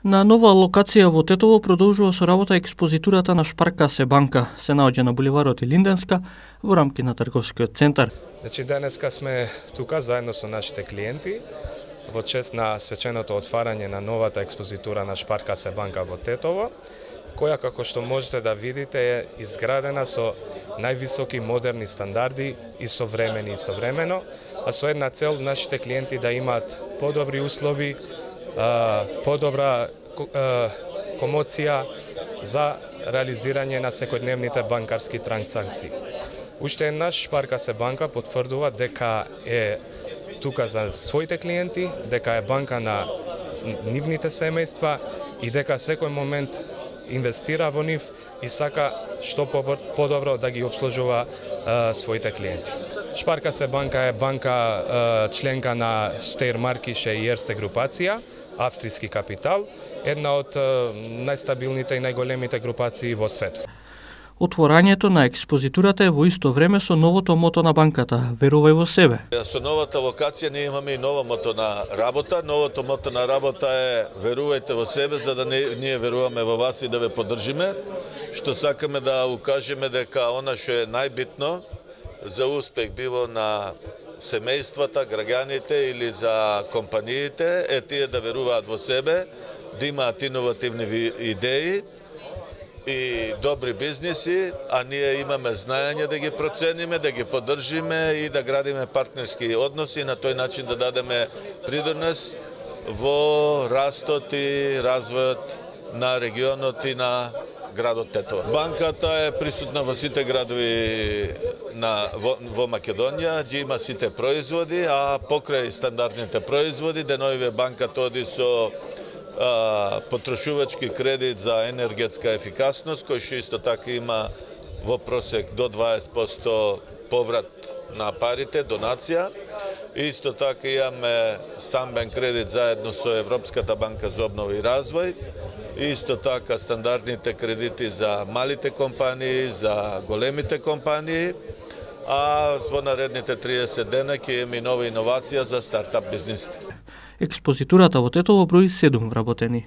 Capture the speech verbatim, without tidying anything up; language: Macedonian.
На нова локација во Тетово продолжува со работа експозитурата на Шпаркасе банка. Се наоѓа на буливарот Илинденска во рамки на трговскиот центар. Значи денеска сме тука заедно со нашите клиенти во чест на свеченото отварање на новата експозитура на Шпаркасе банка во Тетово, која како што можете да видите е изградена со највисоки модерни стандарди и современи истовремено, а со една цел нашите клиенти да имаат подобри услови, подобра комоција за реализирање на секојдневните банкарски транзакции. Уште еднаш Шпаркасе банка потврдува дека е тука за своите клиенти, дека е банка на нивните семејства и дека секој момент инвестира во нив и сака што подобро да ги обслужува а, своите клиенти. Шпаркасе банка е банка а, членка на Штејрмаркише и Ерсте групација, австријски капитал, една од а, најстабилните и најголемите групации во светот. Отворањето на експозитурата е во исто време со новото мото на банката "Верувај во себе". Со новата локација ние имаме и ново мото на работа. Новото мото на работа е "Верувајте во себе", за да не, ние веруваме во вас и да ве поддржиме. Што сакаме да укажеме дека она што е најбитно за успех било на семејствата, граѓаните или за компаниите е тие да веруваат во себе, да имаат иновативни идеи и добри бизниси, а ние имаме знаење да ги процениме, да ги поддржиме и да градиме партнерски односи и на тој начин да дадеме придонес во растот и развојот на регионот и на градот Тетово. Банката е присутна во сите градови на, во, во Македонија, ги има сите производи, а покрај стандардните производи, деновиве банката оди со потрошувачки кредит за енергетска ефикасност, кој што исто така има во просек до дваесет проценти поврат на парите, донација. Исто така имаме стамбен кредит заедно со Европската банка за обнова и развој. Исто така стандардните кредити за малите компании, за големите компании, а во наредните триесет дена ќе имаме нова иновација за стартап бизнисите. Експозитурата во Тетово брои седум вработени.